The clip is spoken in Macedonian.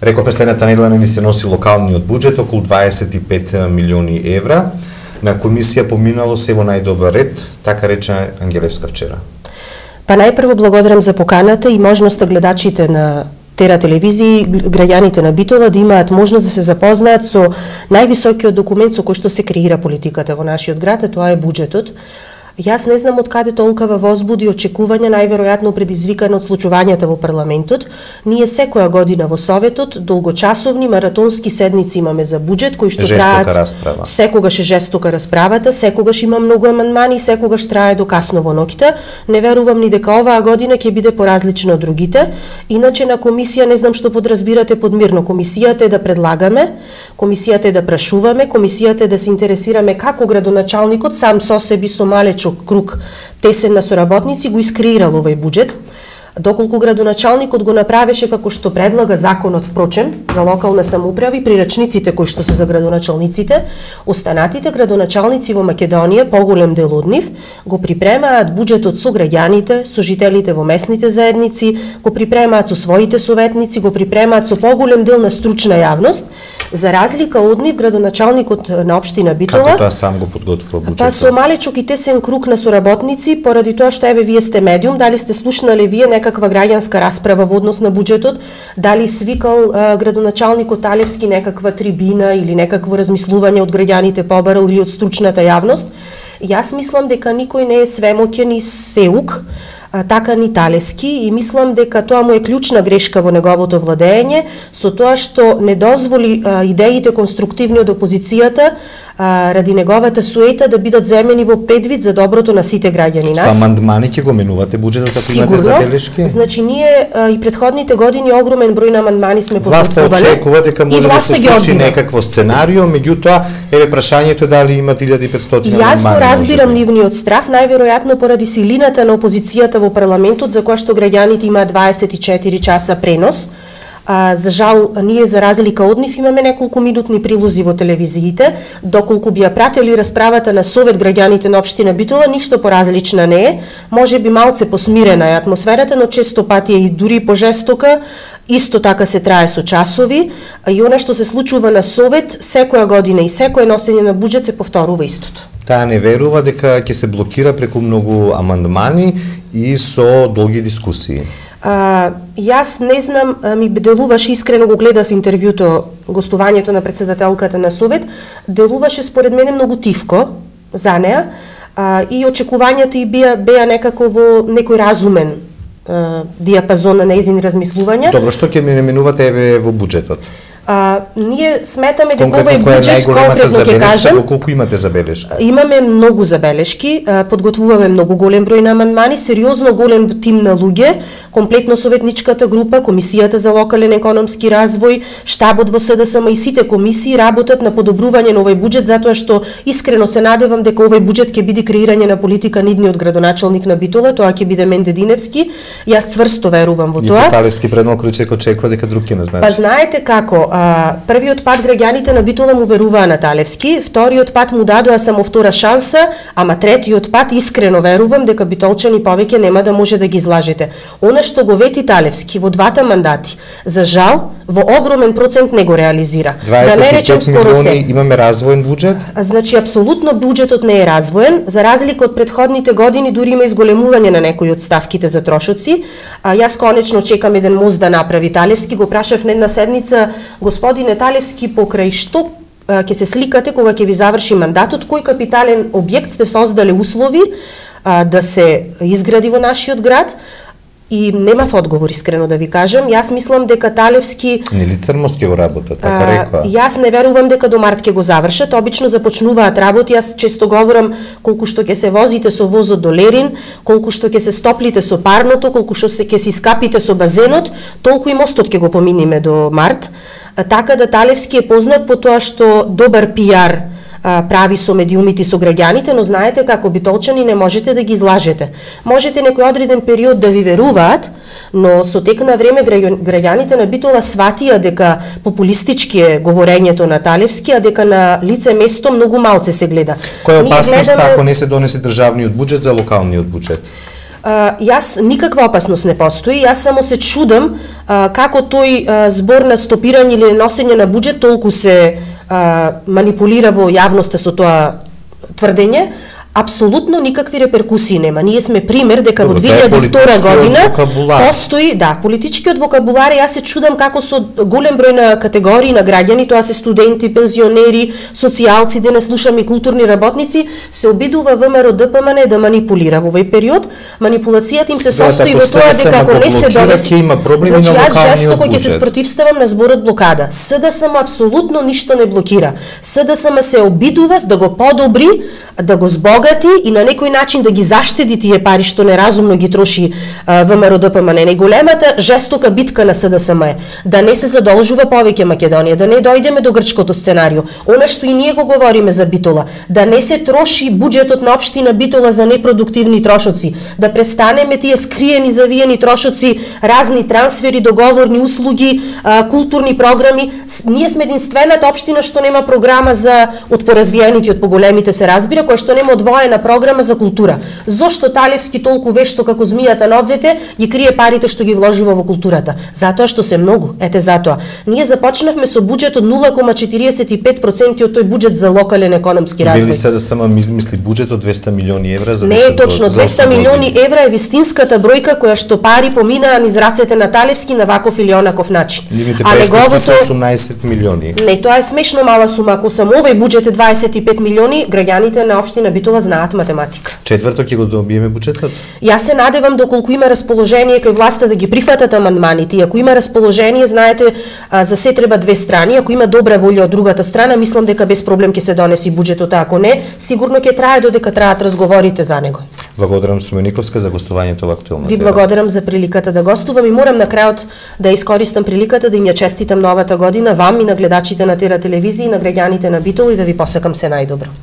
Рековме следната недела не ви се носи локалниот буџет околу 25 милиони евра. На комисија поминало се во најдобар ред, така рече Ангелевска вчера. Па најпрво благодарам за поканата и можноста гледачите на Тера телевизија, граѓаните на Битола да имаат можност да се запознаат со највисокиот документ со кој што се креира политиката во нашиот град, а тоа е буџетот. Јас не знам од каде толкова возбуди очекувања, најверојатно предизвикано од случувањата во парламентот. Ние секоја година во Советот долгочасовни маратонски седници имаме за буџет кои што траат. Секогаш е жестока расправата, секогаш има многу амандмани, секогаш трае до касно во ноќта. Не верувам ни дека оваа година ќе биде поразлична од другите. Иначе на комисија не знам што подразбирате под мирно. Комисијата е да предлагаме, комисијата е да прашуваме, комисијата е да се интересираме како градоначалникот сам со себе со малеч круг тесен на соработници го искреирал овој буџет. Доколку градоначалникот го направеше како што предлага законот впрочем за локална самоуправа и прирачниците кои што се за градоначалниците, останатите градоначалници во Македонија, поголем дел од нив, го припремаат буџетот со граѓаните, со жителите во местните заедници, го припремаат со своите советници, го припремаат со поголем дел на стручна јавност. За разлика од нив, градоначалникот на општина Битола, како тоа сам го подготвува буџетот? Па со малечок и тесен круг на соработници, поради тоа што еве вие сте медиум, дали сте слушнале вие некаква граѓанска расправа во однос на буџетот, дали свикал градоначалникот Талевски некаква трибина или некакво размислување од граѓаните побарал или од стручната јавност. Јас мислам дека никој не е свемоќен и сеук, така ни Талевски, и мислам дека тоа му е клучна грешка во неговото владење, со тоа што не дозволи идеите конструктивни од опозицијата ради неговата суета да бидат земени во предвид за доброто на сите граѓани нас. Со амандмани ќе го менувате буџетот, ако имате забелешки? Значи ние и претходните години огромен број на амандмани сме подготвувале. Власта очекува дека може да се случи некакво сценарио, меѓутоа еве прашањето дали има 1500 амандмани. Јас го разбирам нивниот страв, најверојатно поради силината на опозицијата во парламентот, за која што граѓаните имаат 24 часа пренос. За жал, ние за разлика од нив имаме неколку минутни прилози во телевизиите, доколку би ја пратели расправата на Совет граѓаните на општина Битола, ништо поразлична не е, може би малце посмирена е атмосферата, но често пати е и дури пожестока, исто така се трае со часови, и она што се случува на Совет, секоја година и секој носење на буџет се повторува истото. Таа не верува дека ќе се блокира преку многу амандмани и со долги дискусии. Јас не знам, ми делуваше, искрено го гледав интервјуто, гостувањето на председателката на Совет, делуваше според мене многу тивко за неа и очекувањата и беа некако во некој разумен диапазон на нејзини размислувања. Добро, што ќе ми наменувате еве во буџетот? Ние сметаме дека овој буџет, конкретно ќе кажем, колку имате забелешки? Имаме многу забелешки, подготвуваме многу голем број на амандмани, сериозно голем тим на луѓе, комплетно советничката група, Комисијата за локален економски развој, штабот во СДСМ и сите комисии работат на подобрување на овој буџет, затоа што искрено се надевам дека овој буџет ќе биде креирање на политика нидниот градоначалник на Битола, тоа ќе биде Менде Диневски. Јас цврсто верувам во тоа. И Талевски предно Кручек очекува дека друг ќе не знае. Па знаете како, првиот пат граѓаните на Битола му веруваа на Талевски, вториот пат му дадоа само втора шанса, ама третиот пат искрено верувам дека битолчани повеќе нема да може да ги излажете. Она што го вети Талевски во двата мандати, за жал, во огромен процент не го реализира. 25 милиони имаме развоен буџет? Значи, апсолутно буџетот не е развоен, за разлика од претходните години дури има изголемување на некои од ставките за трошоци. Јас конечно чекам еден мост да направи Талевски, го прашав на една седница, господине Талевски, покрај што ќе се сликате кога ќе ви заврши мандатот, кој капитален објект сте создале услови да се изгради во нашиот град? И немав одговор, искрено да ви кажам. Јас мислам дека Талевски... Нели Црмост ќе го работат, така рекоа? Јас не верувам дека до март ќе го завршат. Обично започнуваат работи. Јас често говорам колку што ќе се возите со возот до Лерин, колку што ќе се стоплите со парното, колку што ќе се искапите со базенот, толку и мостот ќе го поминиме до март. Така да Талевски е познат по тоа што добар пиар прави со медиумите и со граѓаните, но знаете како битолчани не можете да ги излажете. Можете некој одреден период да ви веруваат, но со тек на време граѓаните на Битола сватија дека популистички е говорењето на Талевски, а дека на лице место многу малце се гледа. Која е опасноста ако не се донесе државниот буџет за локалниот буџет? Јас никаква опасност не постои, јас само се чудам како тој збор на стопирање или носење на буџет толку се манипулира во јавноста со тоа тврдење. Апсолутно никакви реперкусии нема. Ние сме пример дека во 2002 година постои, политичкиот вокабулар. Јас се чудам како со голем број на категории на граѓани, тоа се студенти, пензионери, социјалци, да не слушаме и културни работници, се обидува ВМРО ДПМН да манипулира во овој период. Манипулацијата им се состои во тоа дека ако не се донесе, значи јас жестоко ќе се спротивставам на зборот блокада. СДСМ апсолутно ништо не блокира. СДСМ се обидува да го подобри, да го збогати и на некој начин да ги заштеди тие пари што неразумно ги троши ВМРО ДПМН. Најголемата жестока битка на СДСМ е да не се задолжува повеќе Македонија, да не дојдеме до грчкото сценарио. Она што и ние го говориме за Битола, да не се троши буџетот на општина Битола за непродуктивни трошоци, да престанеме тие скриени завиени трошоци, разни трансфери, договорни услуги, културни програми. Ние сме единствената општина што нема програма за од поразвиените, од поголемите се разбира, која што нема одвоена програма за култура. Зошто Талевски толку вешто како змијата на одзете ги крие парите што ги вложува во културата? Затоа што се многу. Ете затоа. Ние започнавме со буџет од 0,45% од тој буџет за локален економски развој. Вели се да само измисли буџет од 200 милиони евра за 10 години. Не е точно, 200 милиони евра е вистинската бројка која што пари поминаа низ рацете на Талевски на ваков или онаков начин. Нивните представници се 18 милиони. Не, тоа е смешно мала сума. Ако само овој буџет е 25 милиони, граѓаните на општина Битола знаат математика. Четврто ќе го добиеме буџетот? Јас се надевам доколку има расположение кај власта да ги прифатат амандманите. Ако има расположение, знаете, за се треба две страни. Ако има добра волја од другата страна, мислам дека без проблем ќе се донеси буџетот, а ако не, сигурно ќе трае додека траат разговорите за него. Благодарам Струмениковска за гостувањето во Актуелна тема. Ви благодарам за приликата да гостувам и морам на крајот да искористам приликата да им ја честитам новата година вам и на гледачите на Тера телевизија и на граѓаните на Битола и да ви посакам се најдобро.